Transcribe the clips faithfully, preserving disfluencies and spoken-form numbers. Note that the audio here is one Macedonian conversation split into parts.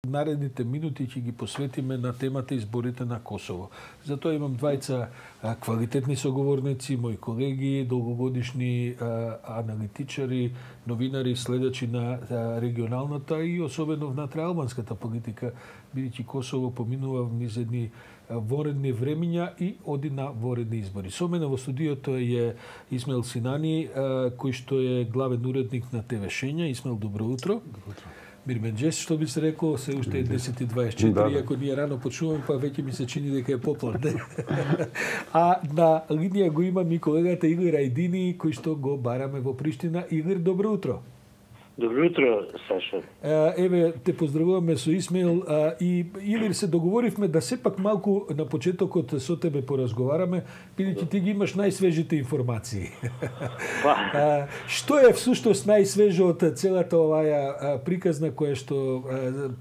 Наредните минути ќе ги посветиме на темата изборите на Косово. Затоа имам двајца квалитетни соговорници, мои колеги, долгогодишни аналитичари, новинари, следачи на регионалната и особено внатреалбанската политика, бидејќи Косово поминува низ едни воредни времиња и оди на воредни избори. Со мене во студиото е Исмаил Синани, кој што е главен уредник на ТВ Шења. Исмаил, добро утро. Добро утро. Мирменџес, што би се рекло, се уште е десет и дваесет и четири, да, ако ние рано почнуваме, па веќе ми се чини дека е попладне. А на линија го има ми колегата Илир Ајдини, кој што го бараме во Приштина. Илир, добро утро. Добро утро, Саша. Еве, те поздравуваме со Исмаил и Илир, се договоривме да сепак малку на почетокот со тебе поразговараме, бидејќи ти ги имаш најсвежите информации. А, што е всушност најсвежо од целата оваа приказна која што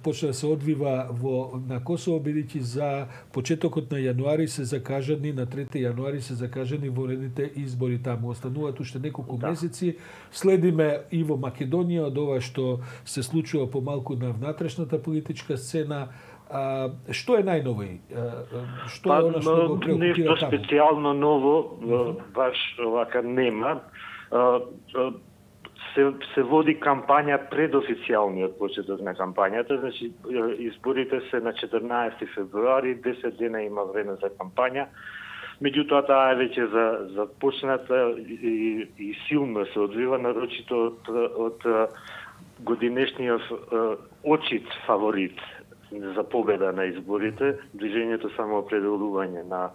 почна да се одвива во на Косово, бидејќи за почетокот на јануари се закажани, на трети јануари се закажани воредните избори таму. Остануваат уште неколку да. месеци. Следиме и во Македонија од ова што се случува помалку на внатрешната политичка сцена. А, што е најново? Што па, е она што го преокупира таму? Нешто специјално ново, баш овака нема. Се, се води кампања пред официјалниот почеток на кампањата, значи изборите се на четрнаесети февруари, десет дена има време за кампања. Меѓутоа, таа е веќе за, започната и, и силно се одвива, нарочито од, од годинешниот очит фаворит за победа на изборите, движењето самоопределување на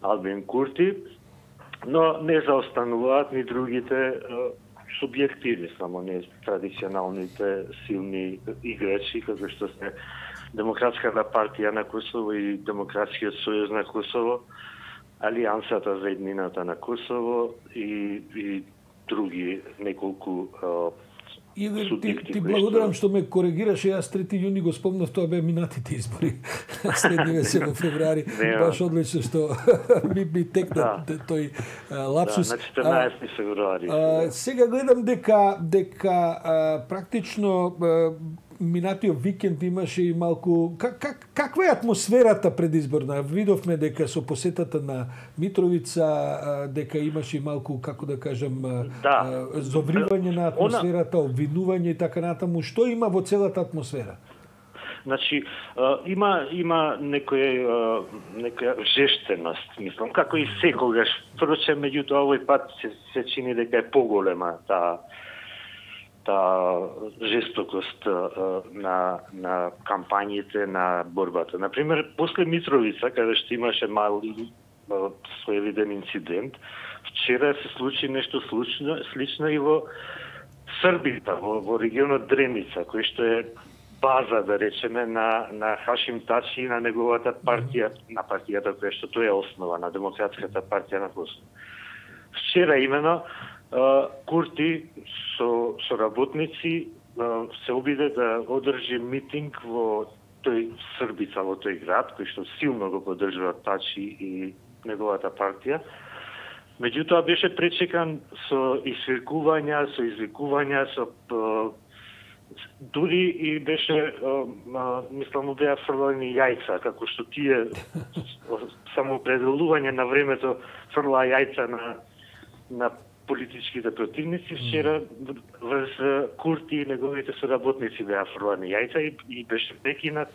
Албин Курти, но не заостануваат ни другите субјективи, само не традиционалните силни играчи, како што се Демократската партија на Косово и Демократскиот сојуз на Косово, Алијансата за еднината на Косово и, и други неколку Илир, ти, ти благодарам што ме коригираше, јас трети јуни го спомнав, тоа беа минатите избори. Следниве се во февруари. Баш одлично што ми, ми текна да. тој а, лапсус. Да, на четрнаесети февруари. А, сега гледам дека дека а, практично а, минатиот викенд имаше и малку как, как, каква е атмосферата предизборна? Видовме дека со посетата на Митровица дека имаше и малку, како да кажам, да. зовривање на атмосферата, обвинување и така натаму. Што има во целата атмосфера? Значи, има има некоја некоја жештеност, мислам, како и секогаш. Впрочем, меѓутоа овој пат се, се чини дека е поголема таа таа жестокост на на кампањите, на борбата. Например, после Митровица, каде што имаше мали своевиден инцидент, вчера се случи нешто слично, слично и во Србита, во, во регионот Дреница, кој што е база, да речеме, на на Хашим Тачи и на неговата партија, на партијата која што тој е основа, на Демократската партија на Косово. Вчера имено Курти со, со работници се обиде да одржи митинг во тој Србица, во тој град, кој што силно го поддржува Тачи и неговата партија. Меѓутоа беше пречекан со извикувања, со извикувања, со дури и беше, мислам, беа фрлани јајца, како што тие самоопределување на времето фрла јајца на на политичките противници. Вчера врз Курти и неговите соработници беа фрлани јајца и, и беше прекинат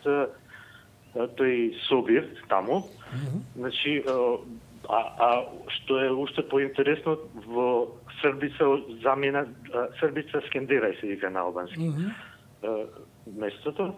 тој собир таму. Mm-hmm. Значи, а, а што е уште поинтересно, во Србица замена, Србица Скендерај се вика на албански. Mm-hmm. Местото.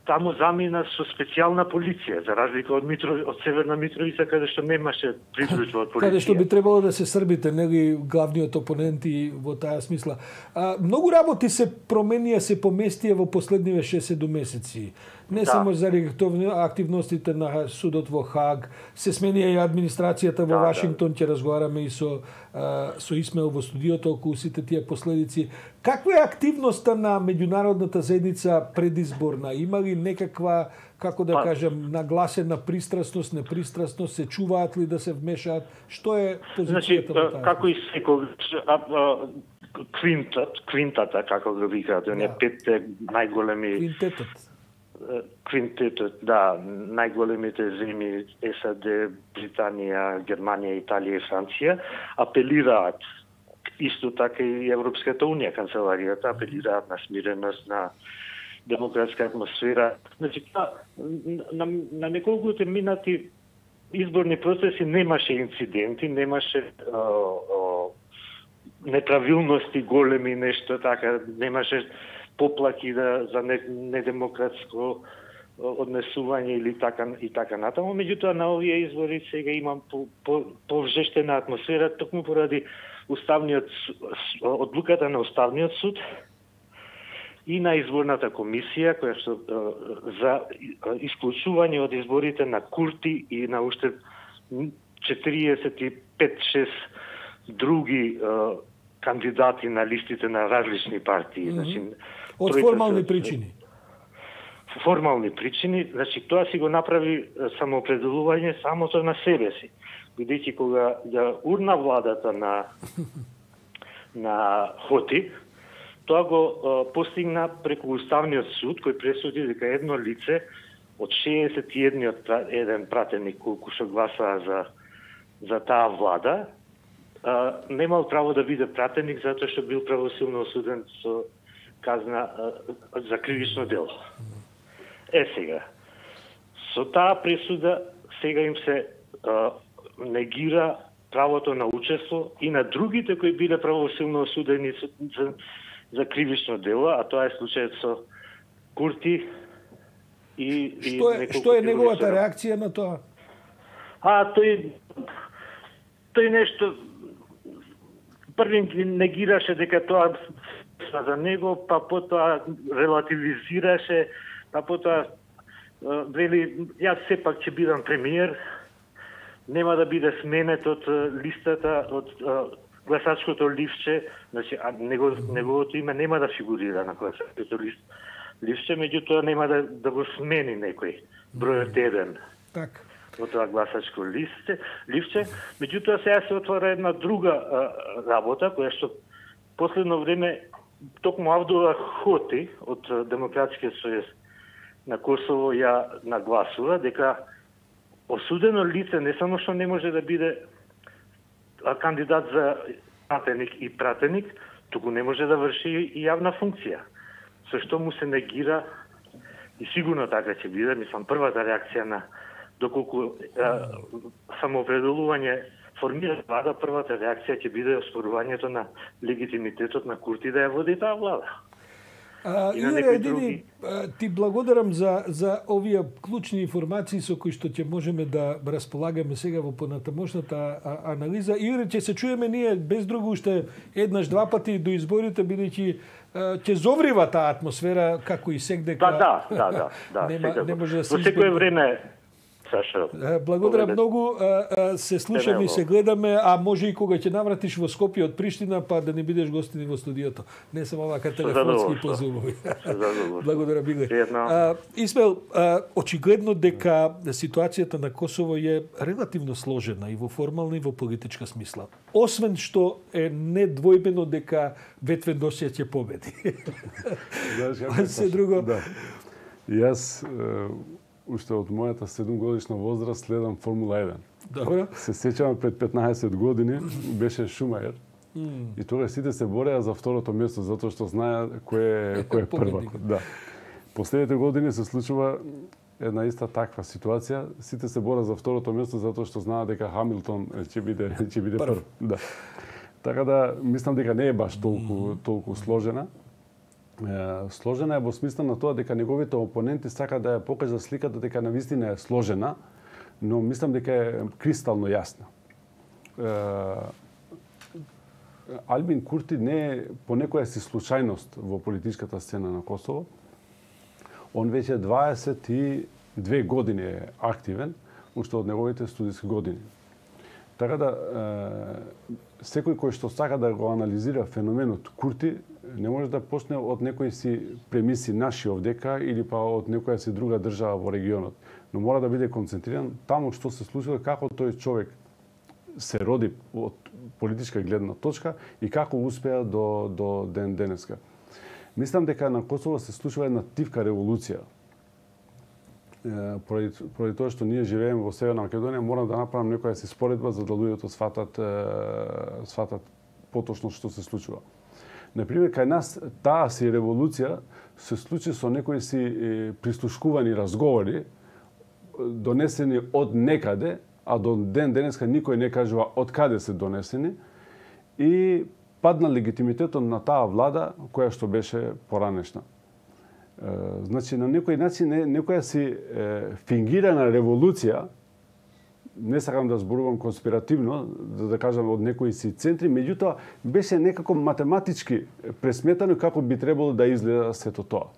Таму замина со специјална полиција, за разлика од Митро, од Северна Митровица, каде што немаше придружба од полиција. Каде што би требало да се србите, нели главниот опонент и во таа смисла. А, многу работи се променија, се поместија во последниве шест-седум месеци. Не да. само заради активностите на судот во Хаг, се сменија и администрацијата во да, Вашингтон, ќе да. разговараме и со а, со Исмаил во студиото околу сите тие последици. Каква е активноста на меѓународната заедница предизборна? Има ли некаква, како да па, кажем, нагласена пристрасност, непристрасност, се чуваат ли да се вмешаат? Што е позицијата значи, во таа? Како и секогаш, квинтат, квинтата, како го викаат, оние Да. петте најголеми Квинтетот. квинтетот, да, најголемите земји САД, Британија, Германија, Италија и Франција апелираат, исто така и Европската унија, канцеларијата, апелираат на смиреност, на демократска атмосфера. Значи, на, на неколкуте минати изборни процеси немаше инциденти, немаше а, а, неправилности големи, нешто така, немаше поплаки да, за недемократско однесување или така и така натаму. Меѓутоа на овие избори сега имам по, по, повжештена атмосфера токму поради уставниот одлуката на уставниот суд и на изборната комисија која што за исклучување од изборите на Курти и на уште четириесет и пет шест други кандидати на листите на различни партии. Mm-hmm. Значи, од формални причини. Формални причини, значи тоа си го направи самоопределување самото на себе си. Бидејќи кога ја урна владата на на Хоти, тоа го а, постигна преку уставниот суд кој пресуди дека едно лице од шеесет и еден пратеник колку што гласаа за за таа влада, а, немал право да биде пратеник затоа што бил правосилно осуден со казна а, за кривично дело. Е сега, со таа пресуда сега им се а, негира правото на учество и на другите кои биле правосилно осудени за, за кривично дело, а тоа е случајот со Курти и... Што е, и што е неговата реакција на тоа? А, тој... Тој нешто... Први негираше дека тоа за него, па потоа релативизираше, па потоа вели, јас сепак ќе бидам премиер, нема да биде сменет од листата, од гласачкото ливче, значи а него, неговото име нема да фигурира на гласачкото ливче, меѓутоа нема да, да го смени некој бројот еден. Так. Од тоа гласачко листе, ливче, меѓутоа сега се отвора една друга а, работа, која што последно време токму Авдула Хоти од Демократскиот сојуз на Косово ја нагласува дека осудено лице не само што не може да биде кандидат за пратеник и пратеник, туку не може да врши и јавна функција. Со што му се негира и сигурно така ќе биде, мислам, првата реакција на доколку а, самоопределување формира влада, првата реакција ќе биде оспорувањето на легитимитетот на Курти да ја води таа влада. А, Илире, Едини, ти благодарам за, за овие клучни информации со кои што ќе можеме да располагаме сега во понатамошната анализа. Илире, ќе се чуеме ние без друго уште еднаш два пати до изборите, бидејќи ќе зоврива таа атмосфера како и секдека. Да, да, да, да, да. Нема, не може да се во секое време, Сашо. Благодарам многу, се слушаме и се гледаме, а може и кога ќе навратиш во Скопје од Приштина, па да не бидеш гостин во студиото. Не само вака телефонски по зумови. Благодарам, Биле. Исмел, очигледно дека ситуацијата на Косово е релативно сложена и во формална и во политичка смисла. Освен што е недвојбено дека Ветвен Досија ќе победи. Се друго. Да. Јас уште од мојата седумгодишна возраст следам Формула еден. Добро. Се сеќавам пред петнаесет години беше Шумајер. Mm. И тогаш сите се бореа за второто место затоа што знаеа кој е кој е првак. Да. Последните години се случува една иста таква ситуација. Сите се бореа за второто место затоа што знаат дека Хамилтон ќе биде ќе биде прв. Да. Така да мислам дека не е баш толку толку сложена. Сложена е во смисла на тоа дека неговите опоненти сакаат да ја покажат сликата дека навистина е сложена, но мислам дека е кристално јасна. Албин Курти не е по некоја си случајност во политичката сцена на Косово. Он веќе дваесет и две години е активен, уште од неговите студиски години. Така да, секој кој што сака да го анализира феноменот Курти, не може да почне од некои си премиси наши овдека или па од некоја си друга држава во регионот. Но мора да биде концентриран таму што се случило, како тој човек се роди од политичка гледна точка и како успеа до, до ден денеска. Мислам дека на Косово се случува една тивка револуција. Поради, поради тоа што ние живееме во Северна Македонија, морам да направам некоја си споредба за да луѓето сватат, сватат поточно што се случува. Например, кај нас таа си револуција се случи со некои си прислушкувани разговори, донесени од некаде, а до ден денеска никој не кажува од каде се донесени, и падна легитимитетот на таа влада која што беше поранешна. Значи, на некој начин, некоја си е, фингирана револуција, не сакам да зборувам конспиративно, да, да кажам од некои си центри, меѓутоа беше некако математички пресметано како би требало да изгледа сето тоа.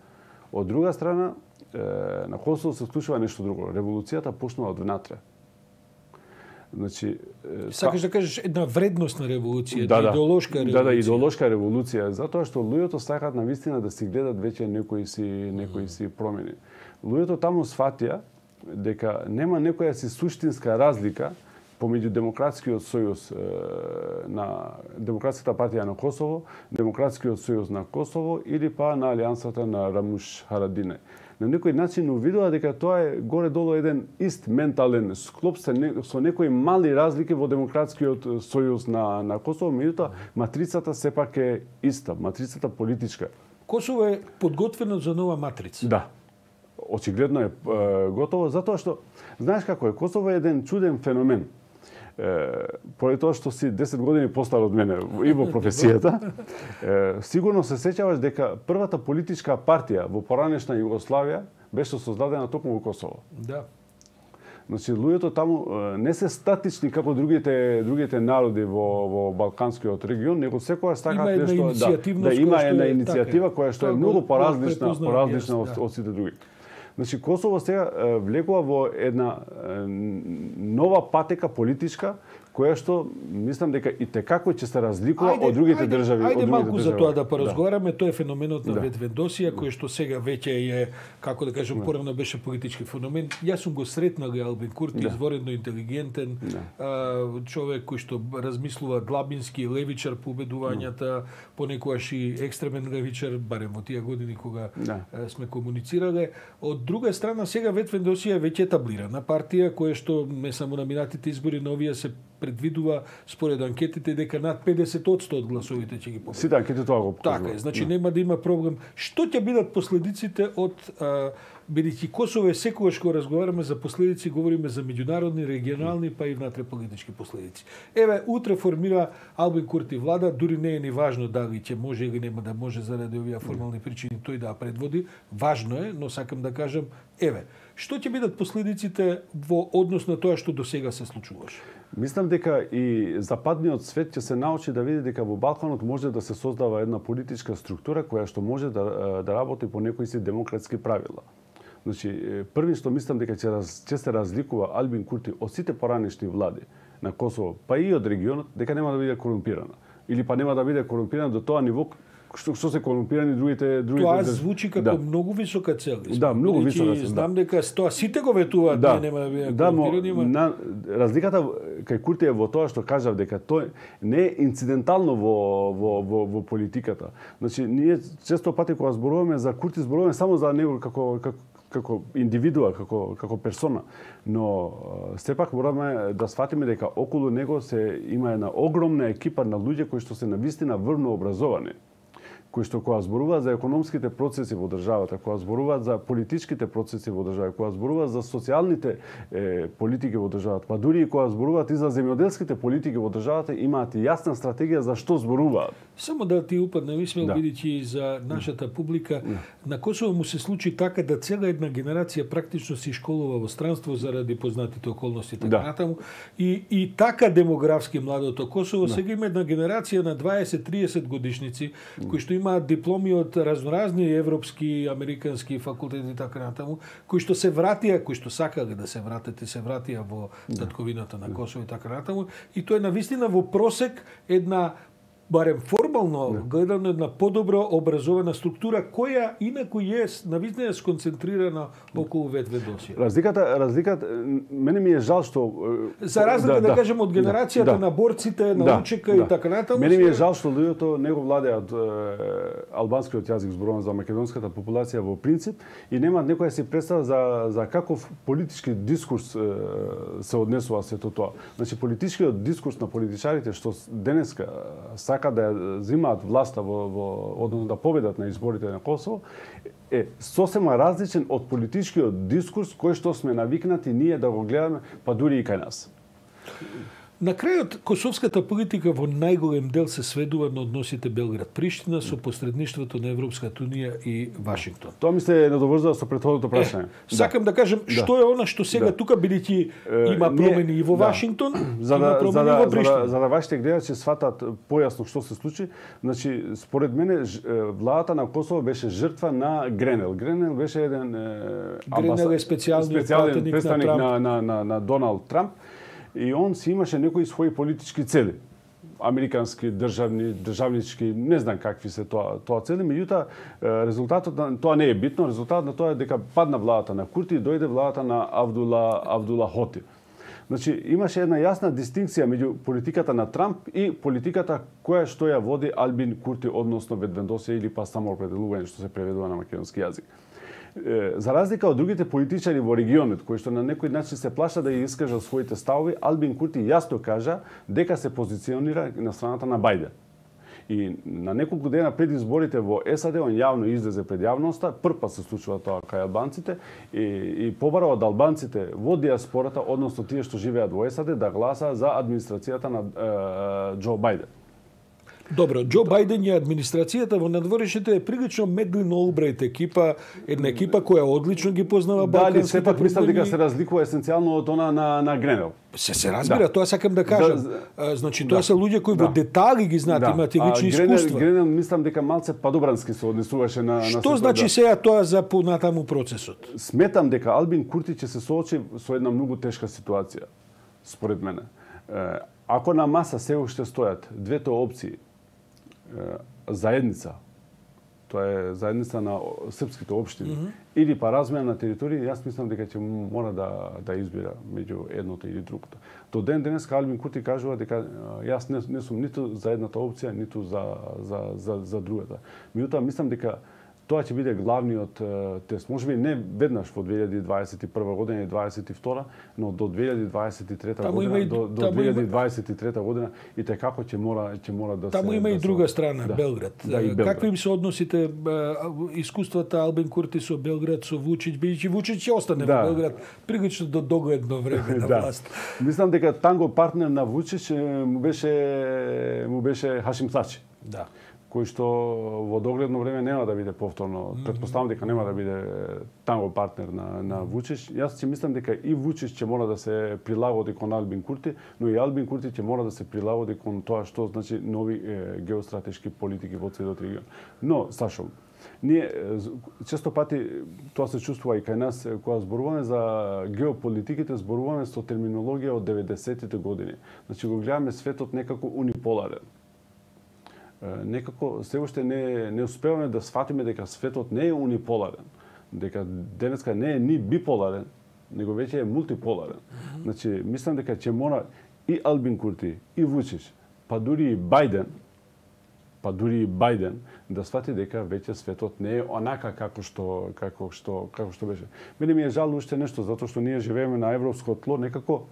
Од друга страна, е, на Косово се случува нешто друго. Револуцијата почнува од внатре. Значи, сакаш да кажеш една вредностна револуција, да, да, идеолошка револуција. Да, да, идеолошка револуција, затоа што луѓето сакаат на вистина да си гледат веќе некои си некои си промени. Луѓето таму сфатија дека нема некоја си суштинска разлика помеѓу Демократскиот сојуз на Демократската партија на Косово, Демократскиот сојуз на Косово или па на алијансата на Рамуш Харадине. На некој начин увидува дека тоа е горе-долу еден ист ментален склоп со некои мали разлики во Демократскиот сојуз на, на Косово, меѓутоа матрицата сепак е иста, матрицата политичка. Косово е подготвено за нова матрица. Да. Очигледно е, е готово, затоа што, знаеш како е, Косово е еден чуден феномен. Е, поради тоа што си десет години постар од мене и во професијата, е, сигурно се сеќаваш дека првата политичка партија во поранешна Југославија беше создадена токму во Косово. Да. Значи, луѓето таму не се статични како другите другите народи во во балканскиот регион, него секогаш сакаат нешто да, да има една иницијатива која што е многу поразлична, поразлична од, од сите други. Значи, Косово сега влегува во една нова патека политичка, која што мислам дека и текако ќе се разликува од другите ајде, држави. Ајде од малку држави. за тоа да поразговараме, да. Тоа е феноменот на да. Ветвендосија, кој што сега веќе е, како да кажем, да. Порано беше политички феномен. Јас сум го сретнал Албин Курти, да. Изворедно интелигентен, да. а, човек кој што размислува длабински, левичар по убедувањата, да. Понекогаш и екстремен левичар, барем во тие години кога да. Сме комуницирале. Од друга страна, сега Ветвендосија е веќе етаблирана партија, која што не само на минатите избори, но овие се предвидува според анкетите дека над педесет одсто од гласовите ќе ги победат. Сите анкети тоа го покажуваат. Така е, значи нема да има проблем. Што ќе бидат последиците од бидејќи Косово е секогаш кога разговараме за последици, говориме за меѓународни, регионални, па и внатре политички последици. Еве, утре формира Албин Курти влада, дури не е ни важно дали ќе може или нема да може заради овие формални причини тој да ја предводи. Важно е, но сакам да кажам, еве, што ќе бидат последиците во однос на тоа што досега се случуваше? Мислам дека и западниот свет ќе се научи да види дека во Балканот може да се создава една политичка структура која што може да, да работи по некои си демократски правила. Значи, први што мислам дека ќе, раз, ќе се разликува Албин Курти од сите поранешни влади на Косово, па и од регионот, дека нема да биде корумпирана. Или па нема да биде корумпирана до тоа ниво што, што се корумпирани другите другите. Тоа звучи како да. Многу висока цел. Да, многу висока цел. Знам дека тоа сите го ветуваат, да. Нема да биде да, корумпирани. На, разликата кај Курти е во тоа што кажав дека тој не е инцидентално во во во, во политиката. Значи, ние често пати кога зборуваме за Курти, зборуваме само за него како како како индивидуа, како како персона, но сепак мораме да сфатиме дека околу него се има една огромна екипа на луѓе кои што се навистина врвно образовани, кои што кога зборуваат за економските процеси во државата, кога зборуваат за политичките процеси во државата, кога зборуваат за социјалните е, политики во државата, па дури и кога зборуваат и за земјоделските политики во државата, имаат и јасна стратегија за што зборуваат. Само да ти упаднем, Исмел, да. бидејќи за нашата публика, да. На Косово му се случи така да цела една генерација практично се школува во странство заради познатите околности така да. натаму. И, и така демографски младото Косово, да. Сега има една генерација на дваесет триесет годишници, кои што имаат дипломи од разноразни европски, американски факултети и така натаму, кои што се вратија, кои што сакале да се вратат и се вратија во татковината на Косово и така натаму. И тоа е навистина во просек една барем формално гледано една подобро образована структура која инаку е навистина сконцентрирана околу Ведведосија. Разликата, разликата, мене ми е жал што за разлика да, да, да кажем од генерацијата да, на борците, на да, учека да, и така натаму. Мене ми е жал што луѓето не го владеат албанскиот јазик, зборувам за македонската популација во принцип, и немаат некоја си представа за за каков политички дискурс се однесува сето тоа. Значи политичкиот дискурс на политичарите што денеска сака да ја земаат власта во, во односно да победат на изборите на Косово е сосема различен од политичкиот дискурс кој што сме навикнати ние да го гледаме, па дури и кај нас. На крајот, косовската политика во најголем дел се сведува на односите Белград-Приштина со посредништвото на Европската унија и Вашингтон. Тоа ми се надоврзува со претходното прашање. Е, сакам да, да кажем да. Што е она што сега да. Тука бидејќи има промени и во да. Вашингтон, за да, има промени за да, и во Приштина. За да, за да вашите гледачи сватат појасно што се случи, значи според мене владата на Косово беше жртва на Гренел. Гренел беше еден Гренел е специјален представник на, на, на, на Доналд Трамп. И он си имаше некои своји политички цели. Американски, државни, државнички, не знам какви се тоа, тоа цели, меѓутоа резултатот на тоа не е битно, резултатот на тоа е дека падна владата на Курти и дојде владата на Авдула Авдула Хоти. Значи имаше една јасна дистинкција меѓу политиката на Трамп и политиката која што ја води Албин Курти, односно Ведведосија или па самоопределување што се преведува на македонски јазик. За разлика од другите политичари во регионот, кои што на некој начин се плаша да ја искажат своите ставови, Албин Курти јасно кажа дека се позиционира на страната на Бајден. И на неколку дена пред изборите во САД, он јавно излезе пред јавноста, прв пат се случува тоа кај албанците, и, и побара од албанците во диаспората, односно тие што живеат во САД, да гласа за администрацијата на е, Џо Бајден. Добро, Џо Бајден и администрацијата во надворешните е прилично Медлин Олбрайт екипа, една екипа која одлично ги познава балканските. Дали сепак мислам дека се разликува есенцијално од она на на Гренел. Се се разбира, да. Тоа сакам да кажам. Да, значи тоа да, се луѓе кои да, во детали ги знаат, да, имаат и лични Гренел, искуства. Гренел мислам дека малце падобрански се однесуваше на Што на значи да. сега тоа за понатаму процесот? Сметам дека Албин Курти ќе се соочи со една многу тешка ситуација, според мене. Ако на маса се уште стојат двете опции, заедница, тоа е заедница на српските општини, mm -hmm. или па размена на територии, јас мислам дека ќе мора да да избира меѓу едното или другото. До ден денес Албин Курти кажува дека јас не, не сум ниту за едната опција, ниту за за за за другата. Меѓутоа мислам дека тоа ќе биде главниот е, тест. Можеби не веднаш во две илјади дваесет и прва година и дваесет и втора, но до две илјади дваесет и трета година, и, до, до две илјади дваесет и трета година и како ќе мора ќе мора да таму се има да и друга страна, да, Белград. Да, и Белград. Какви им се односите искуствата Албин Курти со Белград, со Вучич, бидејќи Вучич ќе остане да. во Белград прилично до догледно време на да. власт. Мислам дека танго партнер на Вучич му беше му беше Хашим Тачи. Да. Кој што во догледно време нема да биде повторно, mm -hmm. претпоставам дека нема да биде танго партнер на на Вучич. Јас ќе мислам дека и Вучич ќе мора да се прилагоди кон Албин Курти, но и Албин Курти ќе мора да се прилагоди кон тоа што значи нови е, геостратешки политики во целиот регион. Но Сашо, ние често пати тоа се чувствува и кај нас кога зборуваме за геополитиките, зборуваме со терминологија од деветдесетите години. Значи го гледаме светот некако униполарен. Некако се уште не не успеваме да сфатиме дека светот не е униполарен, дека денеска не е ни биполарен, него веќе е мултиполарен. Mm -hmm. Значи мислам дека ќе мора и Албин Курти, и Вучич, па дури и Бајден, па дури и Бајден да сфати дека веќе светот не е онака како што како што како што беше. Мене ми е жал уште нешто затоа што ние живееме на европско тло, некако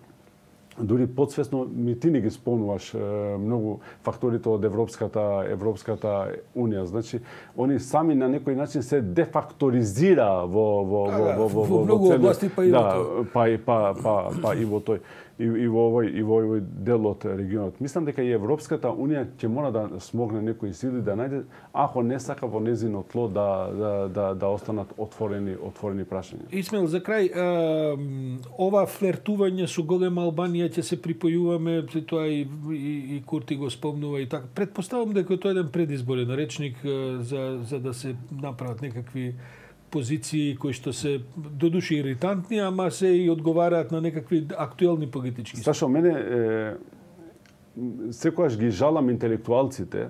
дури подсвесно ми ти не ги спомнуваш е, многу факторите од Европската Европската унија. Значи, они сами на некој начин се дефакторизира во во а, во во во во многу области, па и да, во тој. па и па па па и во тој и, и во овој и во овој дел од регионот. Мислам дека и Европската унија ќе мора да смогне некои сили да најде, ако не сака во незино тло да да да, да останат отворени отворени прашања. Исмел, за крај, а, ова флертување со голема Албанија ќе се припојуваме, тоа и, и, и Курти го спомнува и така. Предпоставам дека тоа е еден предизборен речник за, за да се направат некакви позиции кои што се додуши иритантни, ама се и одговараат на некакви актуелни политички. Сашо, мене е, секогаш ги жалам интелектуалците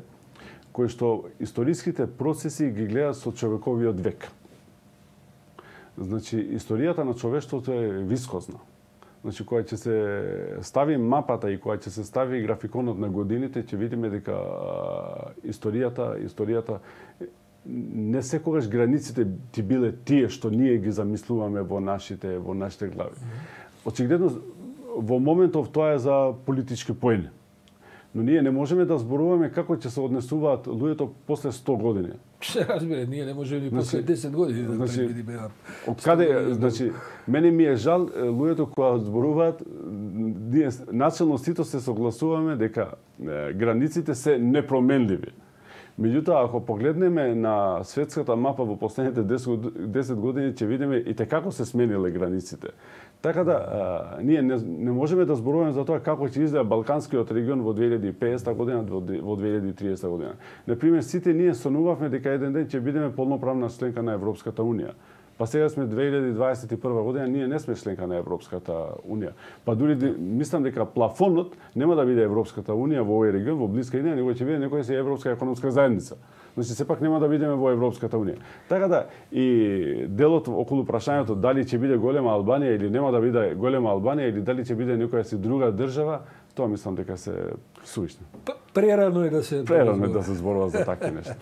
кои што историските процеси ги гледаат со човековиот век. Значи, историјата на човештвото е вискозна. Значи, кога ќе се стави мапата и кога ќе се стави графиконот на годините, ќе видиме дека историјата, историјата не секогаш границите ти биле тие што ние ги замислуваме во нашите во нашите глави. Очигледно во моментов тоа е за политички поени. Но ние не можеме да зборуваме како ќе се однесуваат луѓето после сто години. Се разбира, ние не можеме ни после десет години да значи, предвидиме. Од каде, значи, мене ми е жал луѓето кога зборуваат, ние начелно сите се согласуваме дека е, границите се непроменливи. Меѓутоа, ако погледнеме на светската мапа во последните десет години, ќе видиме и те како се смениле границите. Така да, а, ние не, не можеме да зборуваме за тоа како ќе изгледа Балканскиот регион во две илјади и петдесета година, во две илјади и триесета година. Например, сите ние сонувавме дека еден ден ќе бидеме полноправна членка на Европската унија. Па сега сме две илјади дваесет и прва година, ние не сме членка на Европската унија. Па дури мислам дека плафонот нема да биде Европската унија во овој регион, во блиска идеја, него ќе биде некоја си Европска економска заедница. Значи, сепак нема да бидеме во Европската унија. Така да, и делот околу прашањето дали ќе биде голема Албанија или нема да биде голема Албанија или дали ќе биде некоја си друга држава, тоа мислам дека се суишно. Прерано е да се Прерано е да се зборува за такви нешта.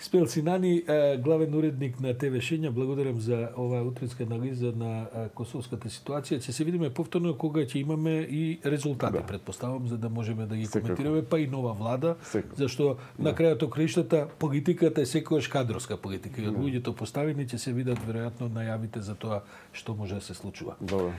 Испел Синани, главен уредник на ТВ Шења, благодарам за оваа утринска анализа на косовската ситуација. Ќе се видиме повторно кога ќе имаме и резултати, да. Предпоставам, за да можеме да ги Секако. коментираме, па и нова влада, Секако. Зашто да. На крајот краиштата политиката е секогаш кадровска политика и од луѓето поставени ќе се видат веројатно најавите за тоа што може да се случува. Добро.